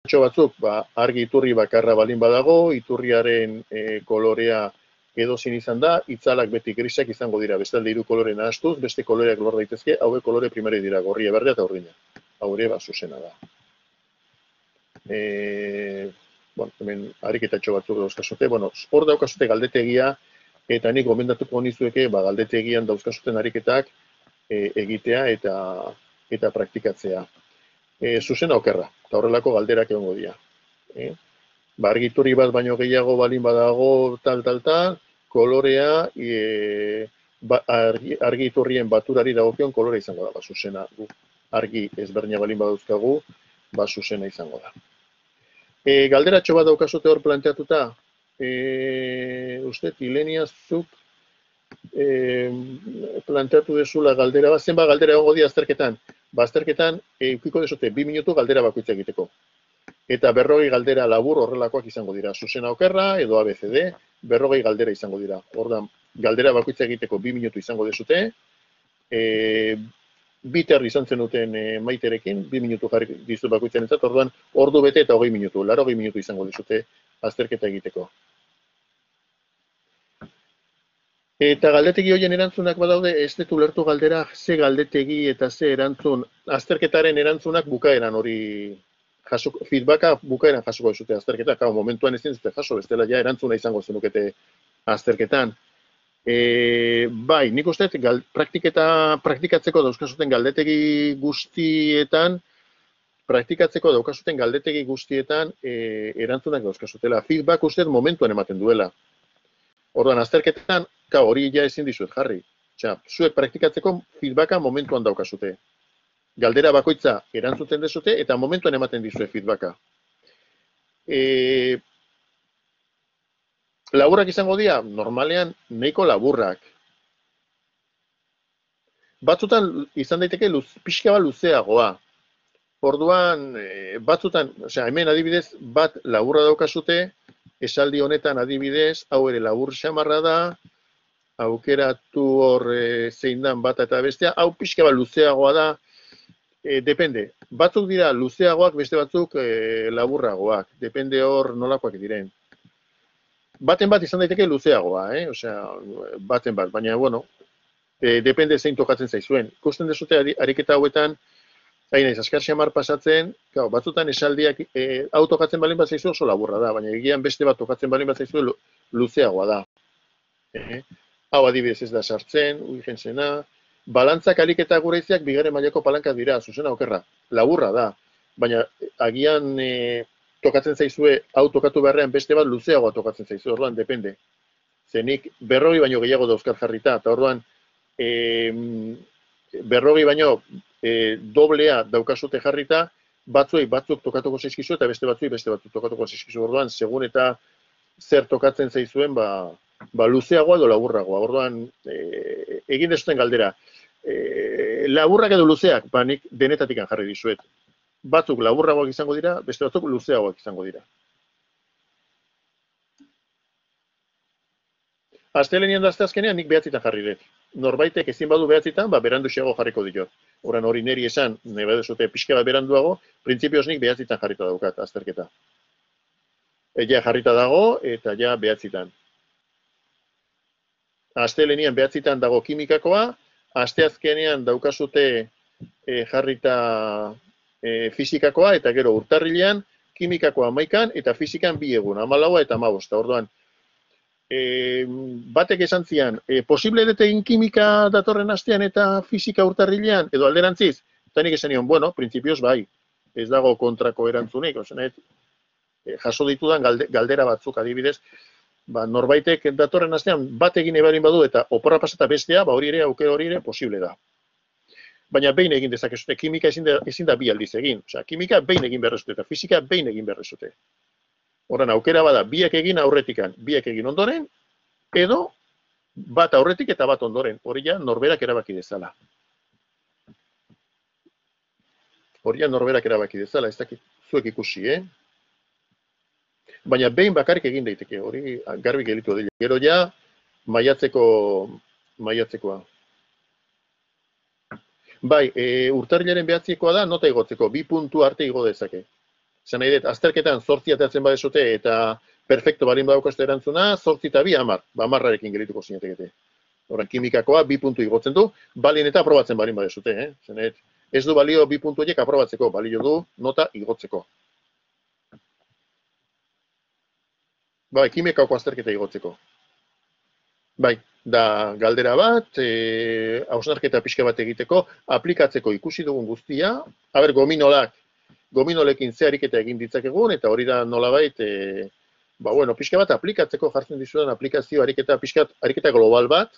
batzuk, argi iturri bakarra balin badago, iturriaren kolorea edozin izan da, itzalak beti grisak izango dira, bestalde hiru kolore nahastuz, beste koloreak lor daitezke, hauek kolore primari dira, gorria, berdea eta urdina. Hau ere, zuzena da. Hemen ariketatxo batzuk dauzkazute, hor daukazute galdetegia, eta nik gomendatuko nizueke, galdetegian dauzkazuten ariketak egitea eta praktikatzea. Zuzena okerra, eta horrelako galderak egongo dira. Argiturri bat baino gehiago balin badago, tal, kolorea, argiturrien baturari dagokion kolore izango da, zuzena. Argi ezberdina balin badauzkagu, zuzena izango da. Galderatxo bat daukazute hor planteatuta, uste, Ilenia, zuk planteatu dezula galdera bat, zenba galdera egongo dira azterketan? Azterketan, eukiko desute 2 minutu galdera bakoitza egiteko. Eta 40 galdera labur horrelakoak izango dira. Zuzena okerra edo ABCD, 40 galdera izango dira. Ordan, galdera bakoitza egiteko 2 minutu izango desute. Biter izan zenuten Maiterekin, 2 minutu jarri dizut bakoitzaren zat, orduan, ordu bete eta 20 minutu, 80 minutu izango dizute azterketa egiteko. Eta galdetegi horien erantzunak badaude, ez dut ulertu galdera, ze galdetegi eta ze erantzun, azterketaren erantzunak bukaeran hori, feedbacka bukaeran jasuko dizute azterketa, momentuan ezin zute jaso, bestela ja erantzuna izango zenukete azterketan. Bai, nik uste, praktikatzeko dauzkazuten galdetegi guztietan, erantzunak dauzkazutela. Feedback uste momentuan ematen duela. Orduan, azterketan, hori ja ezin dizuet jarri. Zuek praktikatzeko feedbacka momentuan daukazute. Galdera bakoitza erantzuten dezute eta momentuan ematen dizue feedbacka. Laburrak izango dira, normalean nahiko laburrak. Batzutan izan daiteke pixka bat luzeagoa. Orduan, batzutan, hemen adibidez, bat laburra daukazute, esaldi honetan adibidez, hau ere labur xamarra da, aukeratu hor zein dan bata eta bestea, hau pixka bat luzeagoa da, depende. Batzuk dira luzeagoak, beste batzuk laburragoak, depende hor nolakoak diren. Baten bat izan daiteke luzeagoa, baten bat, baina, depende zein tokatzen zaizuen. Ikusten dezute ariketa hauetan, naiz azkar xamar pasatzen, batzutan esaldiak hau tokatzen balin bat zaizu oso laburra da, baina egian beste bat tokatzen balin bat zaizu luzeagoa da. Hau adibidez ez da sartzen, urgenzena. Balantzak ariketa gure iziak bigarren mailako palankak dira, zuzena okerra, laburra da. Baina agian tokatzen zaizue hau tokatu beharrean beste bat luzeagoa tokatzen zaizu, orduan depende. Zenik 40 baino gehiago dauzkat jarrita, eta orduan 40 baino doblea daukazute jarrita, batzuk tokatuko zaizkizu eta beste batzuk tokatuko zaizkizu. Orduan, segun eta zer tokatzen zaizuen, luzeagoa edo laburragoa. Orduan, egin dezuten galdera. Laburrak edo luzeak, nik denetatik jarri dizuet. Batzuk laburragoak izango dira, beste batzuk luzeagoak izango dira. Astelehenean da azkenean nik 9 jarri dut. Norbaitek ezin badu 9, beranduxeago jarriko diot. Horan hori neri esan, nahi badezute pixka bat beranduago, printzipioz nik 9 jarrita daukat azterketa. Ja jarrita dago eta ja 9. Astelehenean 9 dago kimikakoa, asteazkenean daukazute jarrita fizikakoa, eta gero urtarrilean kimikakoa 11 eta fizikan 2 egun, 14 eta 15. Orduan, batek esan zian, posible dut egin kimika datorren astean eta fizika urtarrilean, edo alderantziz, eta nik esan nion, printzipioz bai, ez dago kontrako erantzunik, jaso ditudan galdera batzuk adibidez, norbaitek datorren astean bat egin ebarin badu eta oporra pasata bestea, hori ere, aukera hori ere, posible da. Baina behin egin dezakezute, kimika ezin da 2 aldiz egin, kimika behin egin berrezute eta fizika behin egin berrezute. Horren, aukera bada, 2 egin aurretikan, 2 egin ondoren, edo bat aurretik eta bat ondoren. Hori ja, norberak erabaki dezala. Ez dakit zuek ikusi, Baina behin bakarrik egin daiteke, hori garbi gelitu dira. Gero ja, maiatzekoa. Bai, urtarrilaren 9koa da, nota igotzeko, 2 puntu arte igo dezake. Zer nahi dut, azterketan 8 ateratzen badezute eta perfecto balin badaukaste erantzuna, 8 eta 2, 10. Ba, 10arekin gelituko zinetekete. Horren, kimikakoa 2 puntu igotzen du, balin eta aprobatzen balin badezute. Zer nahi dut, ez du balio 2 puntu horiek aprobatzeko, balio du nota igotzeko. Bai, kimikako azterketa igotzeko. Bai, da galdera bat, hausnarketa pixka bat egiteko, aplikatzeko ikusi dugun guztia, haber, gominolekin ze ariketa egin ditzakegun, eta hori da nolabait, bueno, pixka bat aplikatzeko jartzen dizudan aplikazio ariketa global bat,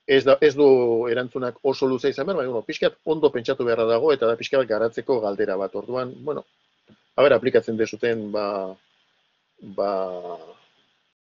ez du erantzunak oso luze izan behar, baina pixkat ondo pentsatu beharra dago, eta da pixka bat garatzeko galdera bat, orduan, bueno, haber, aplikatzen dezuten,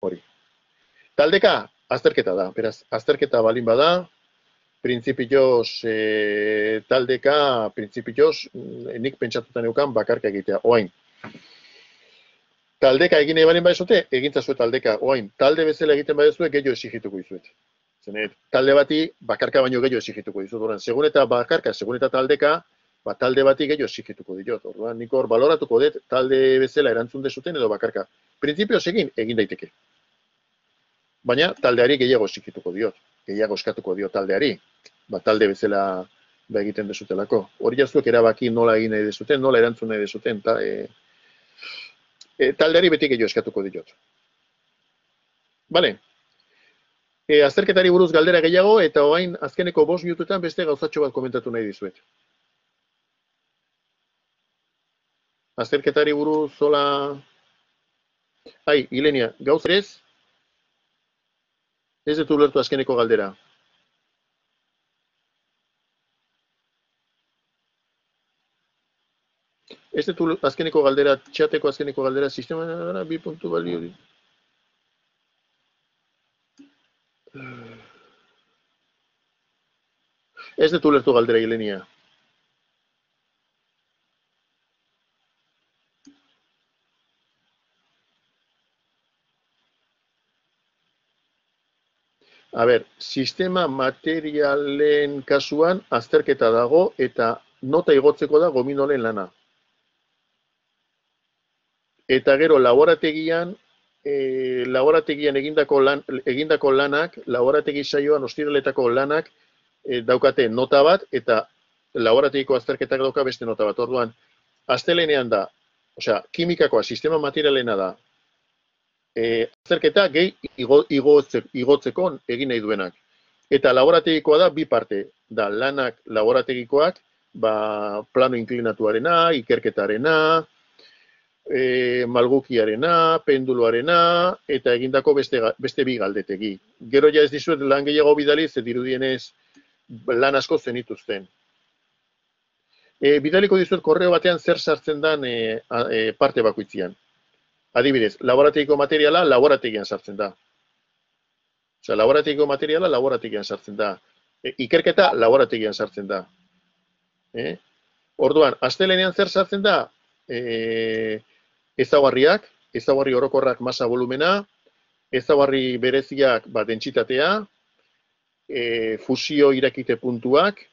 hori. Taldeka, azterketa da, beraz, azterketa balin bada, printzipioz, taldeka, nik pentsatuta neukan bakarka egitea, oain. Taldeka egin nahi balin badezute, egintzazue taldeka, oain, talde bezala egiten badezue, gehiago exigituko izuet. Zenet, talde bati, bakarka baino gehiago exigituko izut, orduan, segun eta bakarka, segun eta taldeka, talde bati gehiago exigituko diot, orduan, nik hor baloratuko dut, talde bezala erantzun dezuten edo bakarka. Printzipioz egin daiteke. Baina taldeari gehiago exigituko diot, gehiago eskatuko diot taldeari, talde bezala egiten dezutelako. Hori jaztuek erabaki nola egin nahi dezuten, nola erantzun nahi dezuten, taldeari beti gehiago eskatuko diot. Bale, azterketari buruz galdera gehiago, eta orain azkeneko 5 minutuetan beste gauzatxo bat komentatu nahi dizuet. Azterketari buruz, zola... Ilenia, gauz ez? Ez dut ulertu azkeneko galdera. Ez dut azkeneko galdera, txateko azkeneko galdera, sistema da, 2 puntu balio. Ez dut ulertu galdera, Ilenia. A ber, sistema materialen kasuan azterketa dago eta nota igotzeko da gominolen lana. Eta gero laborategian egindako lanak, laborategi saioan ostiraletako lanak daukate nota bat eta laborategiko azterketak dauka beste nota bat. Orduan, astelenean da, osea, kimikakoa sistema materialena da, azterketa gehi igotzeko egin nahi duenak. Eta laborategikoa da 2 parte, da lanak laborategikoak, plano inklinatuarena, ikerketarena, malgukiarena, penduloarena, eta egindako beste 2 galdetegi. Gero ja ez dizuet lan gehiago bidali, ze dirudienez lan asko zenituzten. Bidaliko dizuet korreo batean zer sartzen den parte bakoitzian. Adibidez, laborategiko materiala laborategian sartzen da. Osea, laborategiko materiala laborategian sartzen da. Ikerketa laborategian sartzen da. Orduan, astelenean zer sartzen da? Ezaugarri orokorrak masa volumena, ezaugarri bereziak dentsitatea, fusio irakite puntuak,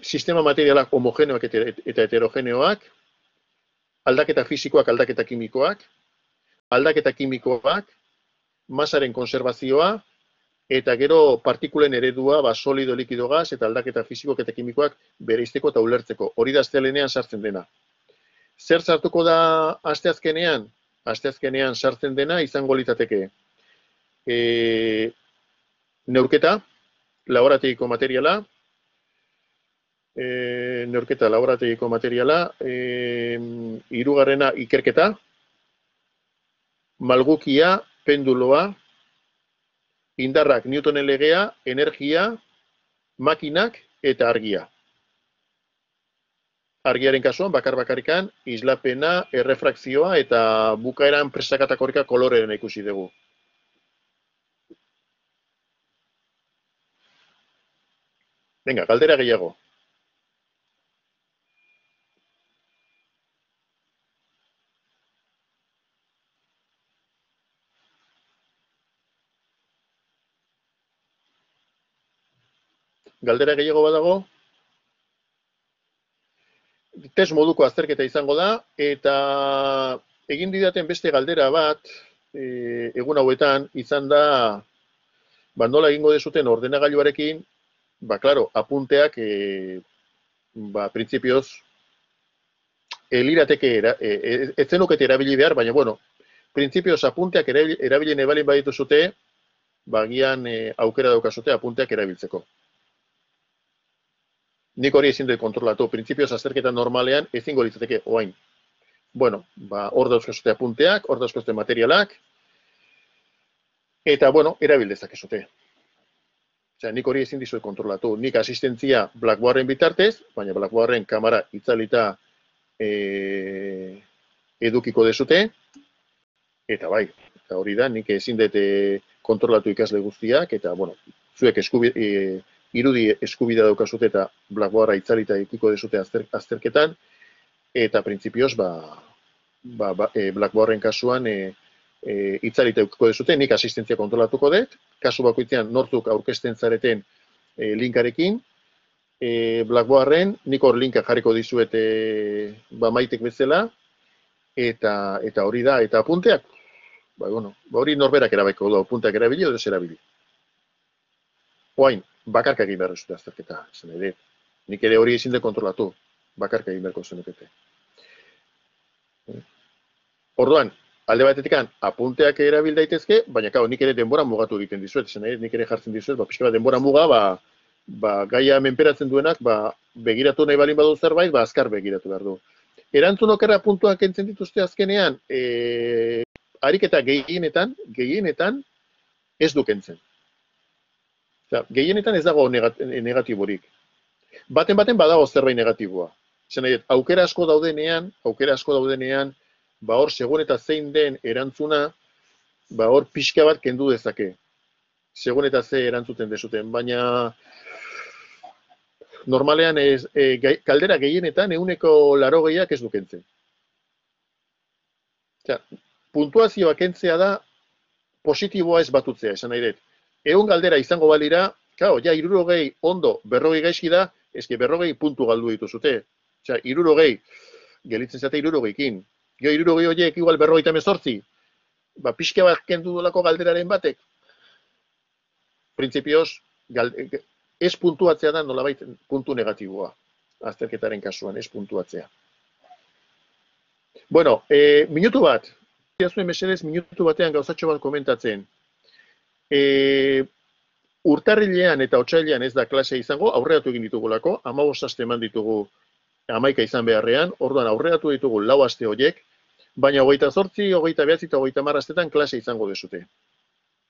sistema materialak homogeneoak eta heterogeneoak, aldaketa fisikoak, aldaketa kimikoak, masaren konservazioa, eta gero partikulen eredua, solido, likido, gas, eta aldaketa fisikoak eta kimikoak bereizteko eta ulertzeko. Hori da astelenean sartzen dena. Zer sartuko da asteazkenean? Asteazkenean sartzen dena izango litzateke neurketa, laborategiko materiala, hirugarrena ikerketa, malgukia, penduloa, indarrak, Newtonen legea, energia, makinak eta argia. Argiaren kasuan, bakar-bakarrikan, islapena, errefrakzioa eta bukaeran presakatakorika koloreren ikusi dugu. Venga, galdera gehiago. Galdera gehiago badago? test moduko azterketa izango da, eta egin didaten beste galdera bat, egun hauetan, izan da, nola egingo dezuten ordenagailuarekin, claro, apunteak, printzipioz, lirateke, ez zenukete erabili behar, baina, bueno, printzipioz apunteak erabili nebalin baditu zute, gian aukera daukazute apunteak erabiltzeko. Nik hori ezin dut kontrolatu, printzipioz azterketa normalean ezingo litzateke oain. Bueno, hor dauzkazute apunteak, hor dauzkazute materialak, eta, bueno, erabildezak ezute. Osea, nik hori ezin dizuet kontrolatu. Nik asistentzia Blackboarden bitartez, baina Blackboarden kamera itzalita edukiko dezute, eta bai, eta hori da, nik ezin dut kontrolatu ikasle guztiak, eta, bueno, zuek irudi eskubidea daukazute eta Blackboarda itzalita edukiko dezute azterketan, eta printzipioz, Blackboarden kasuan itzalita edukiko dezute, nik asistentzia kontrolatuko dut, kasu bakoitzean nortzuk aurkezten zareten linkarekin, Blackboarden, nik hor linka jarriko dizuet maitek bezala, eta hori da, eta apunteak, hori norberak erabeko du, apunteak erabili edo ez erabili. Oain, bakarka egin behar zute azterketa, zen ere, nik ere hori ezin de kontrolatu, bakarka egin beharko zenukete. Orduan, alde batetik apunteak erabil daitezke, baina nik ere denbora mugatu egiten dizuet, zen ere, nik ere jartzen dizuet, pixka bat denbora muga, gaia menperatzen duenak, begiratu nahi balin badu zerbait, azkar begiratu behar du. Erantzun okerra puntuak kentzen dituzte azkenean, ariketa gehienetan ez du kentzen. Gehienetan ez dago negatiborik. Baten badago zerbait negatiboa. Zer nahi, aukera asko daudenean, hor segun eta zein den erantzuna, hor pixka bat kendu dezake. Segun eta ze erantzuten dezuten, baina normalean kaldera gehienetan 80% ez du kentzen. Puntuazioa kentzea da positiboa ez batutzea, esan nahi dut. 100 galdera izango balira, ja 60 ondo, 40 gaizki da, eske 40 puntu galdu dituzute. Osea, 60, gelitzen zate 60ekin. Jo 60 horiek igual 58, pixka bat kendu dolako galderaren batek. Printzipioz, ez puntuatzea da nolabait puntu negatiboa. Azterketaren kasuan, ez puntuatzea. Bueno, minutu bat. Zuen mesedez, minutu batean gauzatxo bat komentatzen. Urtarrilean eta otsailean ez da klase izango, aurreratu egin ditugulako, 15 aste eman ditugu 11 izan beharrean, orduan aurreratu ditugu 4 aste horiek, baina 28, 29 eta 30 astetan klase izango dezute.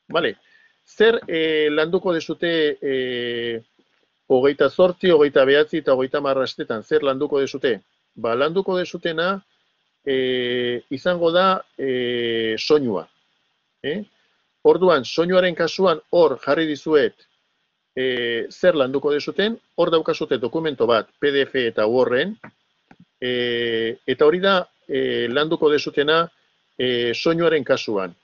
Vale? Zer landuko dezute 28, 29 eta 30 astetan, zer landuko dezute? Landuko dezutena izango da soinua. Orduan, soinuaren kasuan hor jarri dizuet zer landuko dezuten, hor daukazute dokumento bat, PDF eta Worden, eta hori da landuko dezutena soinuaren kasuan.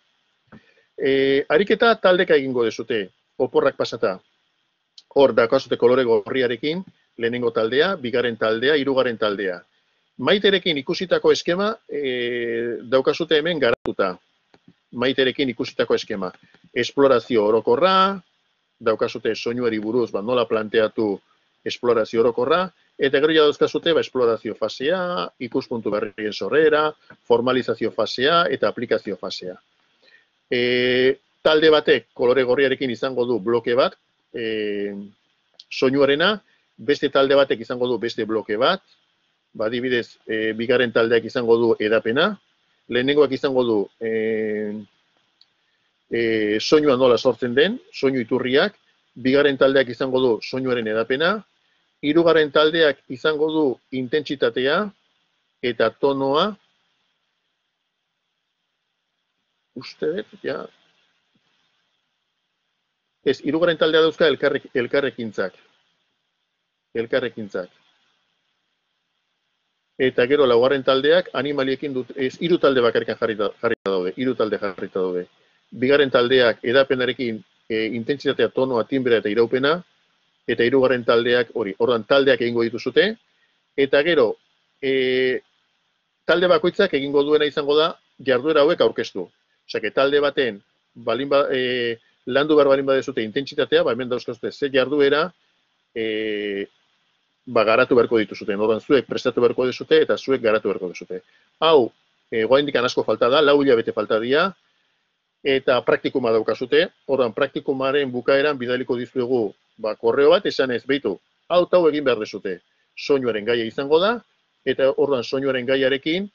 Ariketa taldeka egingo dezute, oporrak pasata. Hor daukazute kolore gorriarekin, lehenengo taldea, bigarren taldea, hirugarren taldea. Maiterekin ikusitako eskema daukazute hemen garatuta. Maiterekin ikusitako eskema. Esplorazio orokorra, daukazute soinuari buruz nola planteatu esplorazio orokorra, eta gero ja dauzkazute esplorazio fasea, ikuspuntu berrien sorrera, formalizazio fasea eta aplikazio fasea. Talde batek kolore gorriarekin izango du bloke bat, soinuarena, beste talde batek izango du beste bloke bat, adibidez, bigarren taldeak izango du edapena, lehenengoak izango du soinua nola sortzen den, soinu iturriak, bigarren taldeak izango du soinuaren edapena, hirugarren taldeak izango du intentsitatea eta tonoa, uste dut, ja, ez, hirugarren taldea dauzka elkarrekintzak. Eta gero laugarren taldeak animaliekin dut, ez, 3 talde bakarrikan jarrita daude, 3 talde jarrita daude. Bigarren taldeak edapenarekin intentsitatea, tonoa, timbrea eta iraupena, eta hirugarren taldeak hori, ordan taldeak egingo dituzute, eta gero talde bakoitzak egingo duena izango da jarduera hauek aurkeztu. Osea, talde baten landu behar balin badezute intentsitatea, hemen dauzkazute ze jarduera garatu beharko dituzuten. Orduan zuek prestatu beharko dezute eta zuek garatu beharko dezute. Hau, oraindik asko falta da, 4 hilabete falta dira, eta praktikuma daukazute. Orduan, praktikumaren bukaeran bidaliko dizuegu korreo bat, esanez, beitu, hau egin behar dezute. Soinuaren gaia izango da, eta orduan soinuaren gaiarekin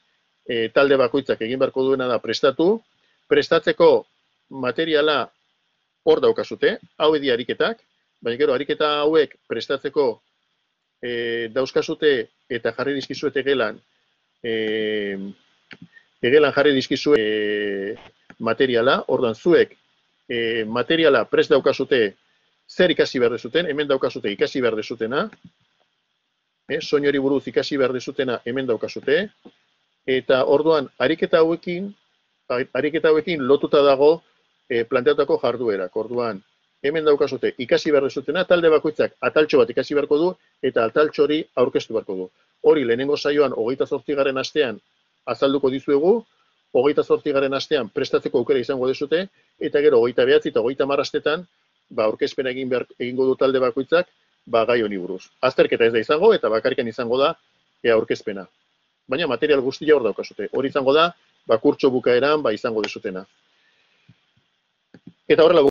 talde bakoitzak egin beharko duena da prestatzeko materiala hor daukazute, hau edi ariketak, baina gero ariketa hauek prestatzeko dauzkazute eta jarri dizkizuete gelan jarri dizkizue materiala, orduan zuek materiala prest daukazute zer ikasi behar dezuten, hemen daukazute ikasi behar dezutena, soinori buruz ikasi behar dezutena hemen daukazute, eta orduan ariketa hauekin lotuta dago planteatutako jarduerak. Orduan, hemen daukazute ikasi behar dezutena, talde bakoitzak ataltxo bat ikasi beharko du, eta ataltxo hori aurkeztu beharko du. Hori lehenengo saioan 28. astean azalduko dizuegu, 28. astean prestatzeko aukera izango dezute, eta gero 29 eta 30 astetan aurkezpena egingo du talde bakoitzak gai honi buruz. Azterketa ez da izango, eta bakarrikan izango da aurkezpena. Baina material guztia hor daukazute. Hori izango da, kurtso bukaeran izango dezutena. Eta horrela